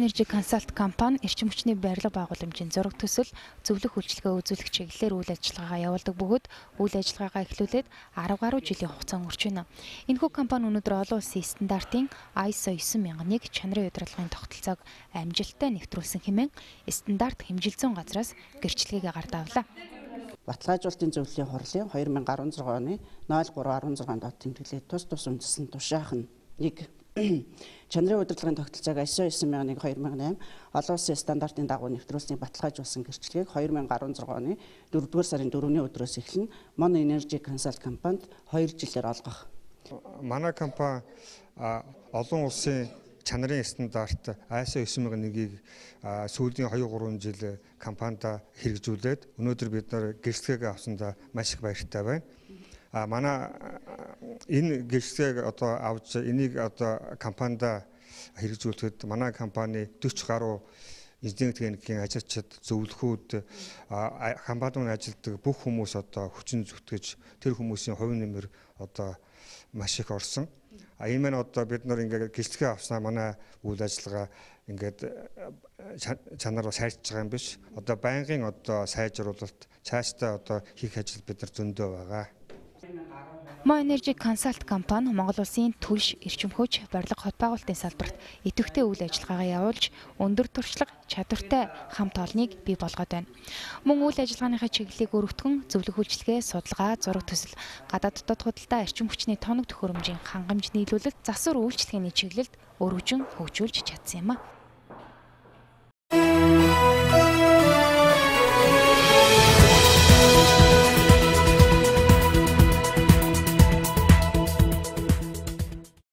Energy Consult компани эрчим хүчний барилга байгууламжийн зураг төсөл, зөвлөх үйлчилгээ үзүүлэх чиглэлээр үйл ажиллагаагаа явуулдаг бөгөөд үйл ажиллагаагаа эхлүүлээд 10 гаруй жилийн хугацаа өнгөрч байна. Энэхүү компани өнөөдөр олон улсын стандартын ISO 9001 чанарын удирдлагын тогтолцоог амжилттай нэвтрүүлсэн хэмээн стандарт хэмжилзэн газраас гэрчлэгийг гардавлаа. Баталгаажуулалтын зөвлөлийн хурлын 2016 оны 0316 дот тэмдэглээд тус үндэслэн тушаах нэг чанарын удирдлагын тогтолцоог ISO 9001 2008 олон улсын стандартын дагуу нэвтрүүлсний баталгаажуулсан гэрчлэгийг 2016 оны 4-р сарын 4-ний өдрөөс эхлэн Mon Energy Consult компанид 2 жилээр олгох. Манай компани олон улсын чанарын стандарт ISO 9001-ийг сүүлийн 2-3 жил компанида хэрэгжүүлээд өнөөдөр бид нар гэрчлэгээ авсандаа маш их баяртай байна. Манай энэ гэрчлэгийг одоо авч энийг одоо компанида хэрэгжүүлэхэд манай компани 40 гаруй инженерийн техникийн ажилчид, зөвлөхүүд, компанид ажилладаг бүх хүмүүс одоо хүчин зүтгэж тэр хүмүүсийн хувь нэмэр одоо маш их орсон. Энэ маань одоо бид нар ингээд гэрчлэгээ авснаа манай үйл ажиллагаа ингээд чанараа сайжирч байгаа юм биш. Одоо байнгын одоо сайжруулалт, цаашдаа одоо хийх ажил бид нар зөндөө байгаа. Mon Energy Consult компани Монгол улсын түлш эрчим хүч барилга хот байгуулалтын салбарт идэвхтэй үйл ажиллагаагаа явуулж өндөр туршлага, чадвартай хамт олныг бий болгоод байна. Мөн үйл ажиллагааныхаа чиглэлийг өргөтгөн зөвлөх үйлчилгээ, судалгаа, зураг төсөл, гадаад дотоод худалдаа, эрчим хүчний тоног төхөөрөмжийн хангамж нийлүүлэлт, засвар үйлчилгээний чиглэлд өргөжин хөгжүүлж чадсан юм а.